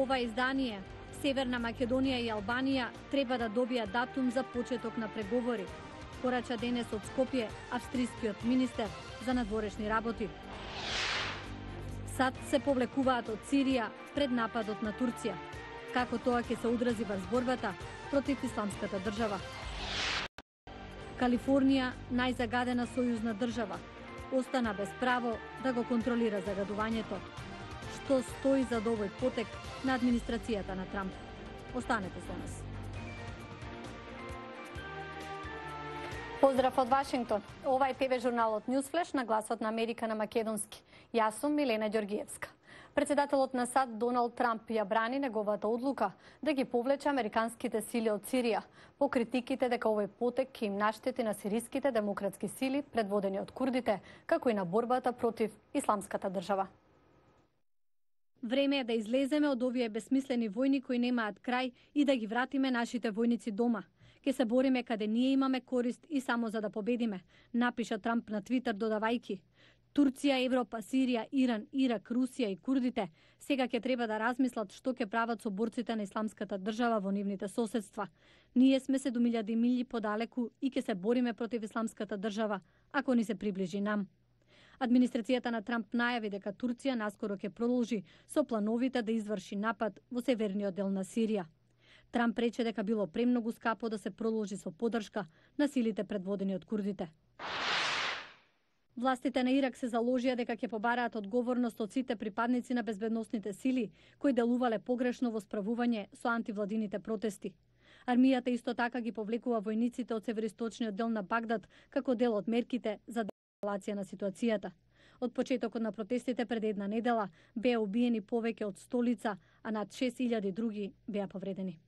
Во ова издание, Северна Македонија и Албанија треба да добијат датум за почеток на преговори, порача денес од Скопје австрискиот министер за надворешни работи. САД се повлекуваат од Сирија пред нападот на Турција. Како тоа ќе се одрази врз борбата против исламската држава? Калифорнија, најзагадена сојузна држава, остана без право да го контролира загадувањето. Што стои за овој потек на администрацијата на Трамп? Останете со нас. Поздрав од Вашингтон. Ова е ТВ журналот Newsflash на гласот на Америка на македонски. Јас сум Милена Ѓоргиевска. Председателот на САД Доналд Трамп ја брани неговата одлука да ги повлече американските сили од Сирија по критиките дека овој потек ќе им наштети на сириските демократски сили предводени од курдите, како и на борбата против исламската држава. Време е да излеземе од овие безсмислени војни кои немаат крај и да ги вратиме нашите војници дома. Ке се бориме каде ние имаме корист и само за да победиме, напиша Трамп на Твитер додавајки: Турција, Европа, Сирија, Иран, Ирак, Русија и курдите сега ќе треба да размислат што ќе прават со борците на исламската држава во нивните соседства. Ние сме 7000 милји подалеку и ќе се бориме против исламската држава ако ни се приближи нам. Администрацијата на Трамп најави дека Турција наскоро ќе продолжи со плановите да изврши напад во северниот дел на Сирија. Трамп рече дека било премногу скапо да се продолжи со поддршка на силите предводени од курдите. Властите на Ирак се заложија дека ќе побараат одговорност од сите припадници на безбедносните сили кои делувале погрешно во справување со антивладините протести. Армијата исто така ги повлекува војниците од североисточниот дел на Багдад како дел од мерките за деескалација на ситуацијата. Од почетокот на протестите пред една недела беа убиени повеќе од 100 лица, а над 6000 други беа повредени.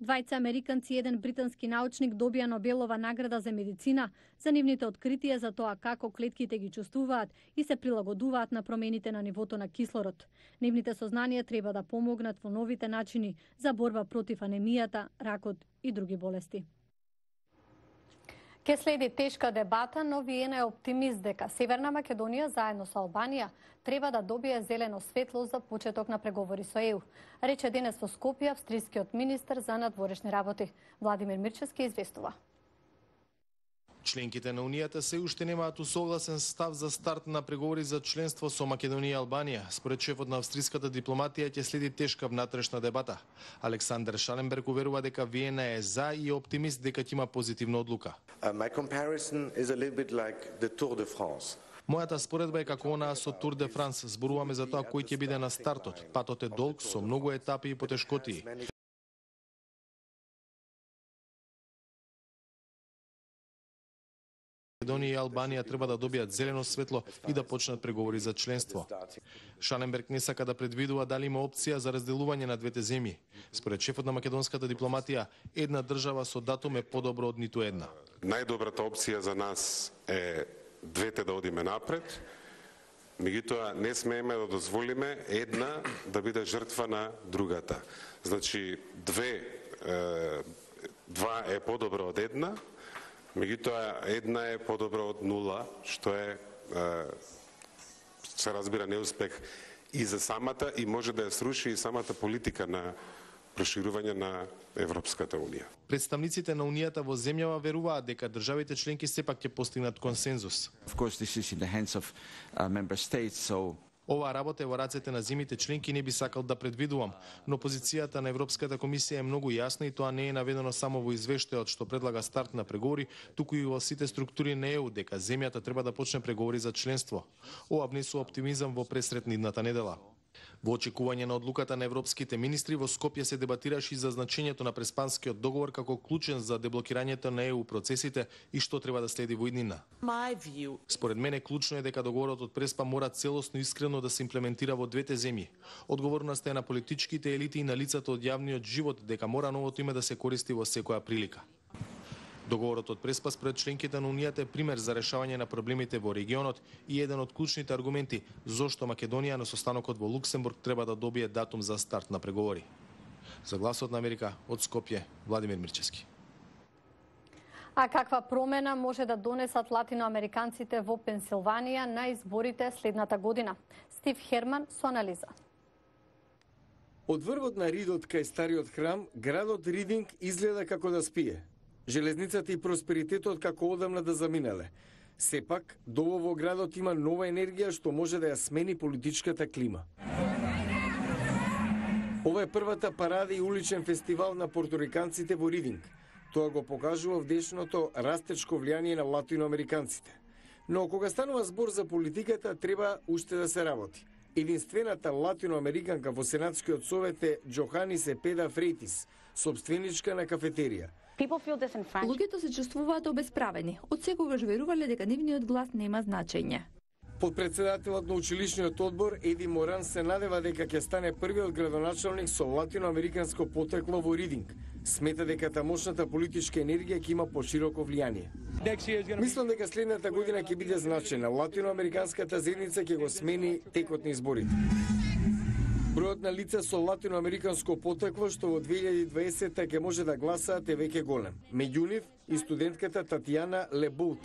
Двајца американци и еден британски научник добија Нобелова награда за медицина за нивните откритија за тоа како клетките ги чувствуваат и се прилагодуваат на промените на нивото на кислород. Нивните сознанија треба да помогнат во новите начини за борба против анемијата, ракот и други болести. Ке следи тешка дебата, но Виена е оптимист дека Северна Македонија заедно со Албанија треба да добие зелено светло за почеток на преговори со ЕУ, рече денес во Скопје австрискиот министер за надворешни работи. Владимир Мирчевски известува. Членките на Унијата се уште немаат усогласен став за старт на преговори за членство со Македонија и Албанија. Според шефот на австриската дипломатија ќе следи тешка внатрешна дебата. Александер Шаленберг уверува дека Виена е за и е оптимист дека ќе има позитивна одлука. My comparison is a little bit like the Tour de France. Мојата споредба е како онаа со Тур де Франс. Зборуваме за тоа кој ќе биде на стартот. Патот е долг со многу етапи и потешкотии. Македонија и Албанија треба да добијат зелено светло и да почнат преговори за членство. Шаленберг не сака да предвидува дали има опција за разделување на двете земји. Според шефот на македонската дипломатија, една држава со датум е подобро од ниту една. Најдобрата опција за нас е двете да одиме напред, меѓутоа не смееме да дозволиме една да биде жртва на другата. Значи, два е подобро од една, меѓутоа една е подобро од нула, што е, се разбира, неуспех и за самата и може да ја сруши и самата политика на проширување на Европската Унија. Представниците на Унијата во земјава веруваат дека државите членки сепак ќе постигнат консензус. Оваа работа е во рацете на земјите членки, не би сакал да предвидувам, но позицијата на Европската комисија е многу јасна и тоа не е наведено само во извештајот што предлага старт на преговори, туку и во сите структури на ЕУ дека земјата треба да почне преговори за членство. Ова внесува оптимизам во пресрет идната недела. Во очекување на одлуката на европските министри, во Скопје се дебатираше и за значењето на Преспанскиот договор како клучен за деблокирањето на ЕУ процесите и што треба да следи во иднина. Според мене клучно е дека договорот од Преспа мора целосно и искрено да се имплементира во двете земји. Одговорноста е на политичките елити и на лицата од јавниот живот дека мора новото име да се користи во секоја прилика. Договорот од Преспа според членките на Унијата е пример за решавање на проблемите во регионот и еден од клучните аргументи зошто Македонија на состанокот во Луксембург треба да добие датум за старт на преговори. За гласот на Америка од Скопје, Владимир Мирчевски. А каква промена може да донесат латиноамериканците во Пенсилванија на изборите следната година? Стив Херман со анализа. Од врвот на ридот кај стариот храм, градот Ридинг изгледа како да спие. Железницата и просперитетот како одамна да заминале. Сепак, долу во градот има нова енергија што може да ја смени политичката клима. Ова е првата парада и уличен фестивал на порториканците во Ридинг. Тоа го покажува вдешното растечко влијание на латиноамериканците. Но кога станува збор за политиката, треба уште да се работи. Единствената латиноамериканка во Сенатскиот совет е Джохани Сепеда Фрейтис, собственичка на кафетерија. Луѓето се чувствуваат обесправени. Од секогаш верувале дека нивниот глас нема значење. Подпредседателот на училишниот одбор Еди Моран се надева дека ќе стане првиот градоначалник со латиноамериканско потекло во Ридинг. Смета дека тамошната политичка енергија ќе има пошироко влијание. Мислам дека следната година ќе биде значена. Латиноамериканската заедница ќе го смени текот на изборите. Бројот на лица со латиноамериканско потекло што во 2020 ќе може да гласаат е веќе голем. Меѓу нив и студентката Татјана Лебут.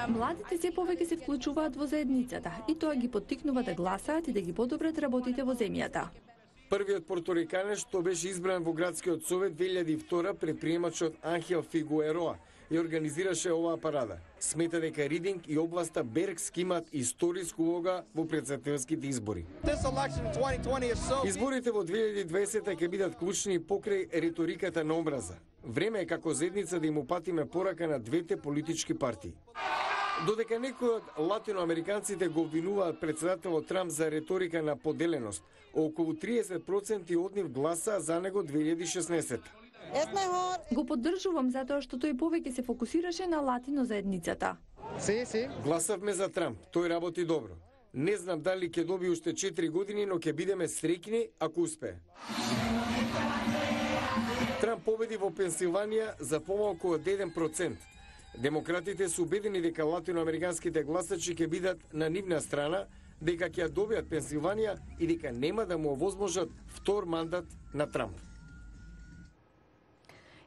Младите се повеќе се вклучуваат во заедницата и тоа ги поттикнува да гласаат и да ги подобрат работите во земјата. Првиот порториканец што беше избран во градскиот совет 2002 предприемачот Анхел Фигуероа и организираше оваа парада. Смета дека Ридинг и областа Бергск имаат историска улога во претседателските избори. Изборите во 2020 ќе бидат клучни покрај риториката на омраза. Време е како заедница да им упатиме порака на двете политички партии. Додека некои од латиноамериканците го обвинуваат претседателот Трамп за риторика на поделеност, околу 30% од нив гласаа за него 2016. Го поддржувам затоа што тој повеќе се фокусираше на латино заедницата. Гласавме за Трамп, тој работи добро. Не знам дали ќе доби уште 4 години, но ќе бидеме среќни ако успее. Трамп победи во Пенсилванија за помалку од 1%. Демократите се убедени дека латиноамериканските гласачи ќе бидат на нивна страна, дека ќе ја добијат Пенсилванија и дека нема да му овозможат втор мандат на Трамп.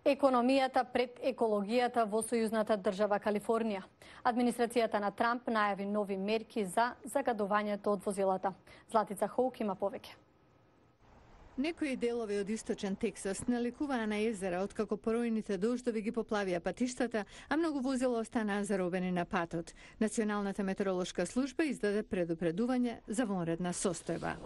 Економијата пред екологијата во сојузната држава Калифорнија. Администрацијата на Трамп најави нови мерки за загадувањето од возилата. Златица Хоук има повеќе. Некои делови од источен Тексас наликуваа на езера откако поројните дождови ги поплавија патиштата, а многу возила останаа заробени на патот. Националната метеоролошка служба издаде предупредување за вонредна состојба.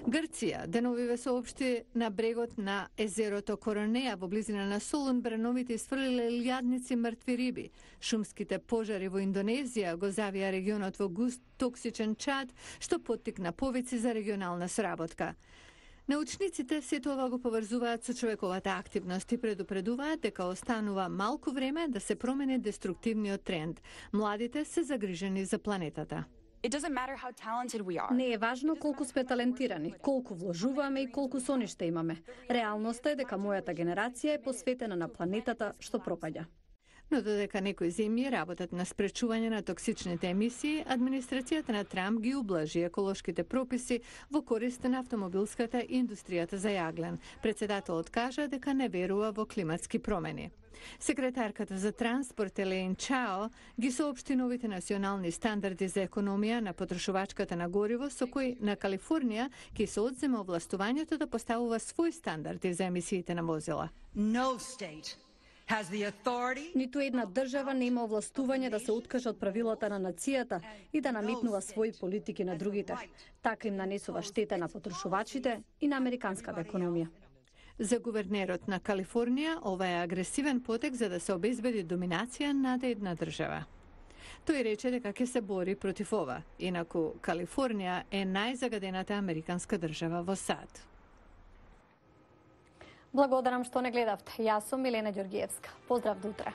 Грција деновиве соопшти на брегот на езерото Коронеја во близина на Солун бреновите isfрлиле илјадници мртви риби. Шумските пожари во Индонезија го завија регионот во густ токсичен чад, што поттикна повици за регионална сработка. Научниците сето ова го поврзуваат со човековата активност и предупредуваат дека останува малку време да се промени деструктивниот тренд. Младите се загрижени за планетата. Не е важно колку сме талентирани, колку вложуваме и колку соништа имаме. Реалноста е дека мојата генерација е посветена на планетата што пропаѓа. Но додека некои земји работат на спречување на токсичните емисии, администрацијата на Трамп ги ублажи еколошките прописи во корист на автомобилската и индустријата за јаглен. Претседателот кажа дека не верува во климатски промени. Секретарката за транспорт Елейн Чао ги соопшти новите национални стандарди за економија на потрошувачката на гориво со кои на Калифорнија ќе се одземе овластувањето да поставува свои стандарди за емисиите на возила. Ниту една држава нема овластување да се откаже од правилата на нацијата и да наметнува своји политики на другите. Така им нанесува штета на потрошувачите и на американската економија. За гувернерот на Калифорнија ова е агресивен потек за да се обезбеди доминација над една држава. Тој рече дека ќе се бори против ова, инаку Калифорнија е најзагадената американска држава во САД. Благодарам што не гледавте. Јас сум Милена Ѓоргиевска. Поздрав до утре.